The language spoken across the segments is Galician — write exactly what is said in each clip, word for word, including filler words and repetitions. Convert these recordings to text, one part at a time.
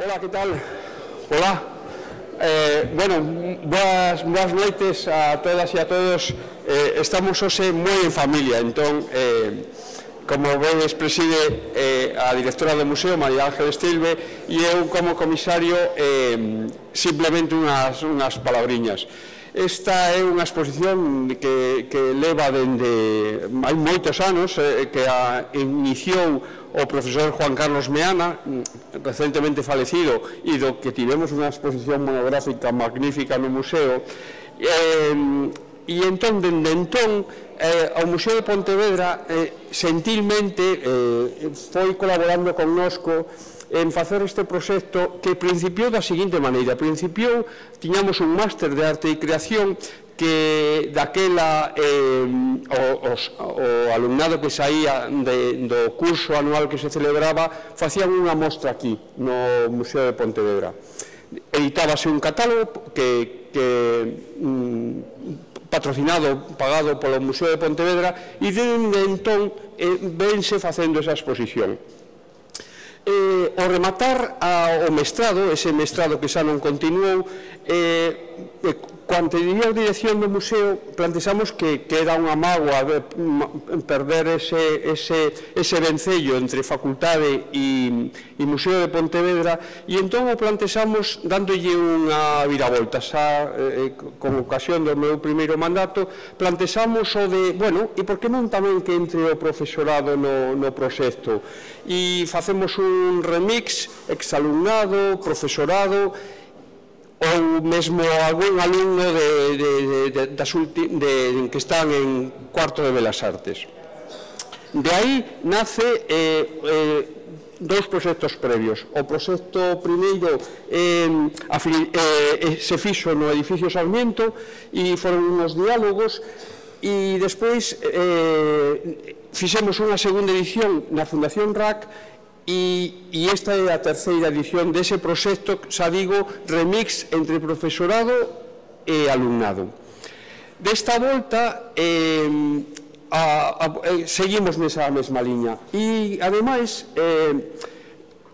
Hola, ¿qué tal? Hola. Eh, bueno, boas, boas noites a todas e a todos. Eh, estamos hoxe moi en familia, entón, eh, como vedes, preside eh, a directora do museo, María Ángel Estilbe, e eu, como comisario, eh, simplemente unhas, unhas palabriñas. Esta é unha exposición que, que leva dende hai moitos anos, eh, que a iniciou o profesor Juan Carlos Meana, recentemente falecido, e do que tivemos unha exposición monográfica magnífica no museo. Eh, e entón, dende entón, eh, o Museo de Pontevedra eh, sentilmente eh, foi colaborando connosco en facer este proxecto que principiou da seguinte maneira. Principiou, tiñamos un máster de arte e creación que daquela eh, o, os, o alumnado que saía de, do curso anual que se celebraba facían unha mostra aquí no Museo de Pontevedra. Editábase un catálogo que, que mm, patrocinado, pagado polo Museo de Pontevedra, e dende entón eh, vense facendo esa exposición. Eh, ao rematar a, o mestrado, ese mestrado que xa non continuou, eh, eh, cando diría a dirección do museo, plantexamos que, que era unha mágoa de, perder ese, ese, ese vencello entre facultade e, e Museo de Pontevedra, e entón o plantexamos dándolle unha viravolta. Xa, eh, con ocasión do meu primeiro mandato, plantexamos o de, bueno, e por que non tamén que entre o profesorado no, no proxecto? E facemos un remix, exalumnado, profesorado, ou mesmo algún alumno de, de, de, das ulti, de, que están en cuarto de Belas Artes. De aí nace eh, eh, dous proxectos previos. O proxecto primeiro eh, eh, se fixo no edificio Sarmiento e foron uns diálogos, e despois eh, fixemos unha segunda edición na Fundación R A C, e, e esta é a terceira edición dese proxecto, xa digo, remix entre profesorado e alumnado. Desta volta eh, a, a, eh, seguimos nesa mesma liña, e ademais eh,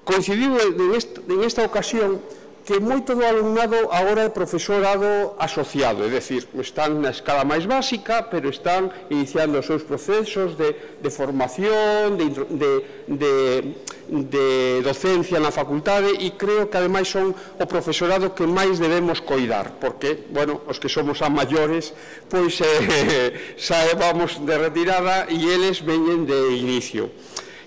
coincidiu en esta, en esta ocasión que moito do alumnado agora é profesorado asociado, é dicir, están na escala máis básica, pero están iniciando os seus procesos de, de formación, de, de, de, de docencia na facultade, e creo que ademais son o profesorado que máis debemos coidar, porque, bueno, os que somos a maiores, pois eh, xa vamos de retirada e eles veñen de inicio.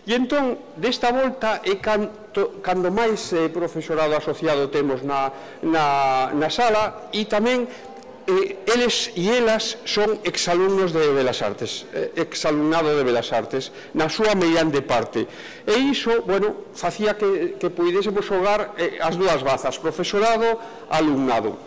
E entón, desta volta, é canto, cando máis eh, profesorado asociado temos na, na, na sala, e tamén eh, eles e elas son exalumnos de Belas Artes, eh, exalumnado de Belas Artes, na súa mediante parte. E iso, bueno, facía que, que puidésemos xogar eh, as dúas bazas, profesorado, alumnado.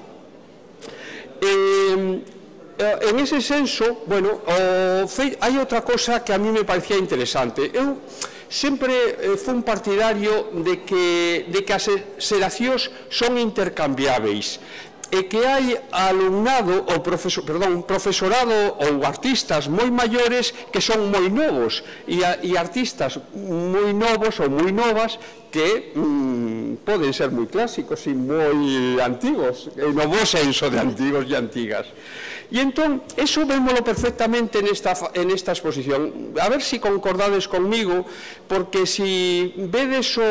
Eh, En ese senso, bueno, hai outra cosa que a mí me parecía interesante. Eu sempre fui un partidario de que, de que as xeracións son intercambiáveis, e que hai alumnado, ou profesor, perdón, profesorado ou artistas moi maiores que son moi novos, e, a, e artistas moi novos ou moi novas que mm, poden ser moi clásicos e moi antigos, no bo senso de antigos e antigas. E entón, eso vémolo perfectamente nesta, en esta exposición. A ver se si concordades conmigo, porque se si vedes o,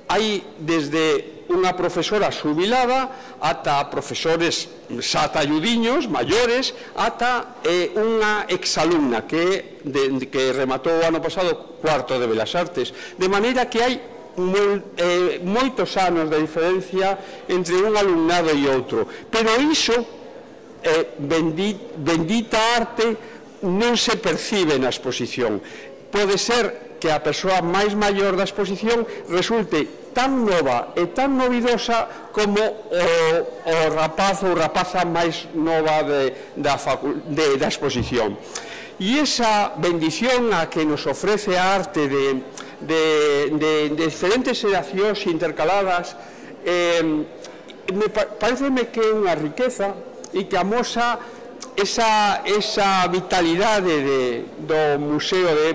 hai desde unha profesora xubilada ata profesores xa talludiños, maiores, ata eh, unha exalumna que, de, que rematou o ano pasado cuarto de Belas Artes. De maneira que hai Mol, eh, moitos anos de diferencia entre un alumnado e outro, pero iso eh, bendita, bendita arte non se percibe na exposición. Pode ser que a persoa máis maior da exposición resulte tan nova e tan novidosa como o, o rapaz ou rapaza máis nova de, da, de, da exposición. E esa bendición a que nos ofrece a arte de De, de, de diferentes xeracións intercaladas, eh, me pareceme que é unha riqueza e que amosa esa, esa vitalidade de, do, museo de,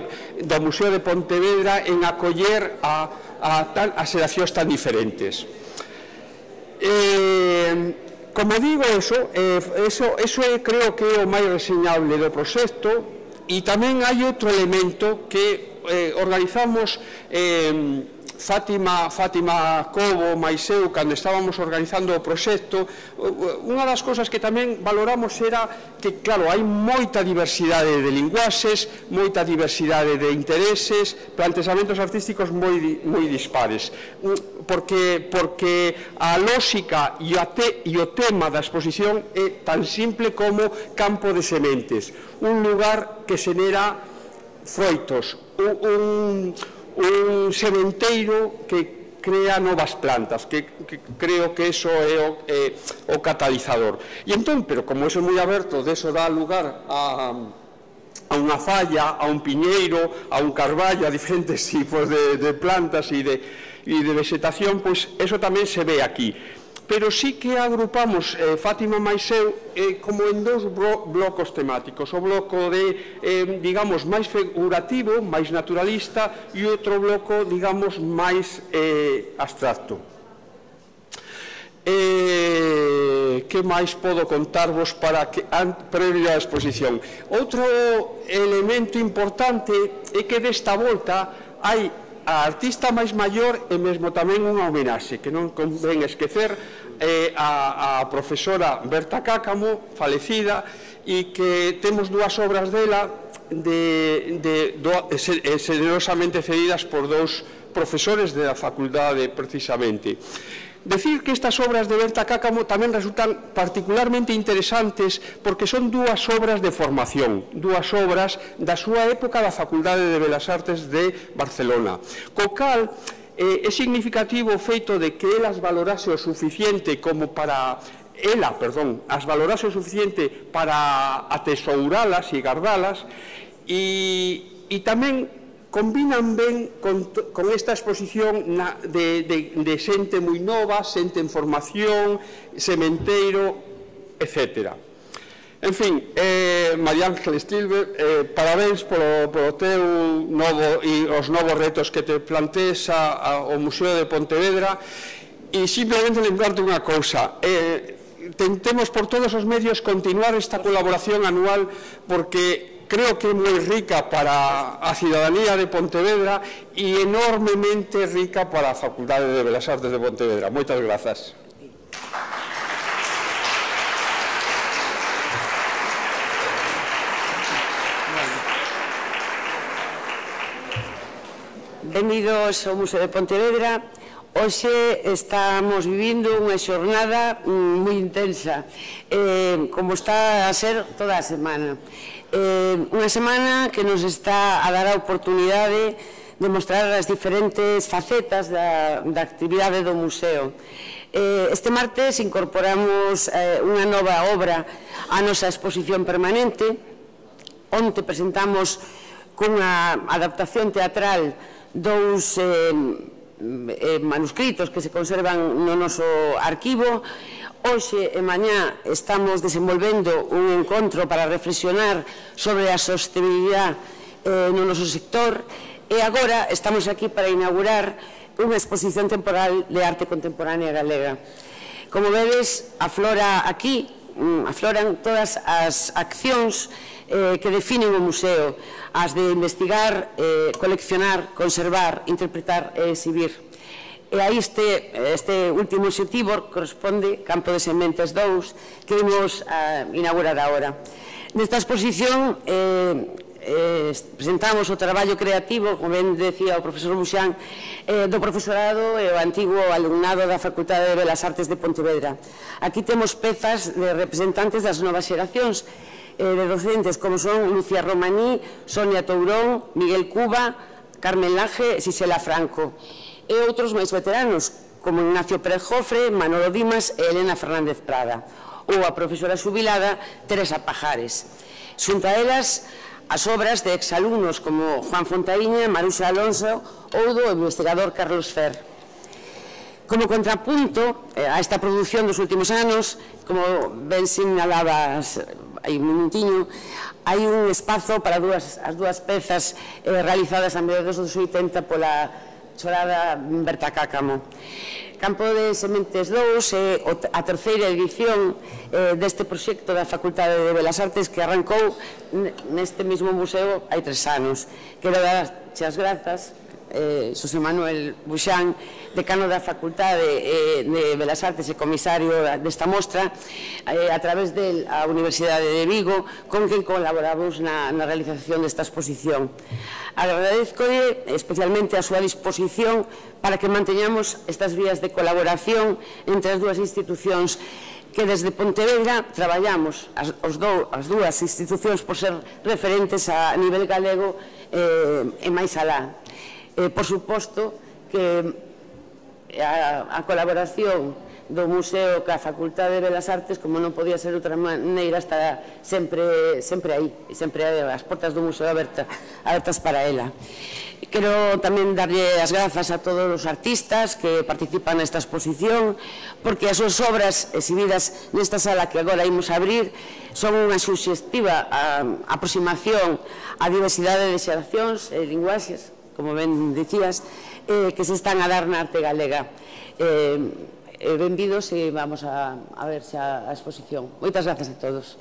do Museo de Pontevedra en acoller a a, tan, a xeracións tan diferentes. Eh, como digo, eso, eh, eso, eso é, creo que é o máis reseñable do proxecto. E tamén hai outro elemento que eh, organizamos eh, Fátima, Fátima Cobo, máis eu, cando estábamos organizando o proxecto. Unha das cousas que tamén valoramos era que, claro, hai moita diversidade de linguaxes, moita diversidade de intereses, plantexamentos artísticos moi, moi dispares, porque, porque a lógica e, a te, e o tema da exposición é tan simple como campo de sementes, un lugar que xenera froitos, un, un un sementeiro que crea novas plantas, que, que creo que eso é o, é o catalizador. E entón, pero como eso é moi aberto, deso dá lugar a, a unha falla, a un piñeiro, a un carballo, a diferentes tipos de, de plantas e de, e de vegetación, pois eso tamén se ve aquí. Pero sí que agrupamos eh, Fátima máis eu eh, como en dous blocos temáticos, o bloco de, eh, digamos, máis figurativo, máis naturalista, e outro bloco, digamos, máis eh, abstracto. Eh, que máis podo contarvos para que, previo á exposición? Outro elemento importante é que desta volta hai a artista máis maior e mesmo tamén unha homenaxe, que non convén esquecer, eh, a, a profesora Berta Cáccamo, falecida, e que temos dúas obras dela de, de, do, generosamente cedidas por dous profesores da facultade, precisamente. Decir que estas obras de Berta Cáccamo tamén resultan particularmente interesantes porque son dúas obras de formación, dúas obras da súa época da Facultade de Belas Artes de Barcelona. Co cal, eh, é significativo o feito de que elas valorase o suficiente como para... ela, perdón, as valorase o suficiente para atesouralas e gardalas, e, e tamén combinan ben con, con esta exposición na, de, de, de xente moi nova, xente en formación, sementeiro, etcétera. En fin, eh, María Ángel Stilbe, eh, parabéns polo, polo teu novo e os novos retos que te plantees ao Museo de Pontevedra, e simplemente lembrarte unha cousa. Eh, tentemos por todos os medios continuar esta colaboración anual porque creo que é moi rica para a cidadanía de Pontevedra e enormemente rica para a Facultade de Belas Artes de Pontevedra. Moitas grazas. Benvidos ao Museo de Pontevedra. Hoxe estamos vivindo unha xornada moi intensa, eh, como está a ser toda a semana. Eh, unha semana que nos está a dar a oportunidade de mostrar as diferentes facetas da, da actividade do museo. Eh, este martes incorporamos eh, unha nova obra á nosa exposición permanente, onde presentamos cunha adaptación teatral dous eh, eh, manuscritos que se conservan no noso arquivo. Hoxe e mañá estamos desenvolvendo un encontro para reflexionar sobre a sostenibilidade eh, no noso sector, e agora estamos aquí para inaugurar unha exposición temporal de arte contemporánea galega. Como vedes, aflora aquí, afloran todas as accións eh, que definen o museo, as de investigar, eh, coleccionar, conservar, interpretar e exhibir. E a este, este último obxectivo corresponde Campo de Sementes dous, que imos a inaugurar agora. Nesta exposición eh, eh, presentamos o traballo creativo, como ben decía o profesor Buxán, eh, do profesorado e o antigo alumnado da Facultade de Belas Artes de Pontevedra. Aquí temos pezas de representantes das novas xeracións, eh, de docentes como son Lucía Romaní, Sonia Tourón, Miguel Cuba, Carmen Laje e Xisela Franco, e outros máis veteranos, como Ignacio Pérez Jofre, Manolo Dimas e Elena Fernández Prada, ou a profesora xubilada Teresa Pajares. Xunto a elas, as obras de exalumnos como Juan Fontaíña, Maruxa Alonso ou do investigador Carlos Fer. Como contrapunto a esta produción dos últimos anos, como ben sinalabas hai un minutiño, hai un espazo para dúas, as dúas pezas eh, realizadas a mediados dos oitenta pola Chorada Berta Cácamo. Campo de Sementes dous é a terceira edición deste proxecto da Facultade de Belas Artes que arrancou neste mesmo museo hai tres anos. Quero dar as grazas a Xosé Manuel Buxán, decano da Facultade de Belas Artes e comisario desta mostra, a través del a Universidade de Vigo, con quen colaboramos na realización desta exposición. Agradezcolle especialmente a súa disposición para que manteñamos estas vías de colaboración entre as dúas institucións que desde Pontevedra traballamos as dúas institucións por ser referentes a nivel galego e máis alá. Por suposto que a colaboración do Museo ca Facultade de Belas Artes, como non podía ser de outra maneira, está sempre aí, sempre as portas do museo abertas para ela. Quero tamén darlle as grazas a todos os artistas que participan nesta exposición, porque as súas obras exhibidas nesta sala que agora imos abrir son unha suxestiva aproximación á diversidade de xeracións e linguaxes, como ben dicías, que se están a dar na arte galega. Benvidos e vamos a ver xa a exposición. Moitas grazas a todos.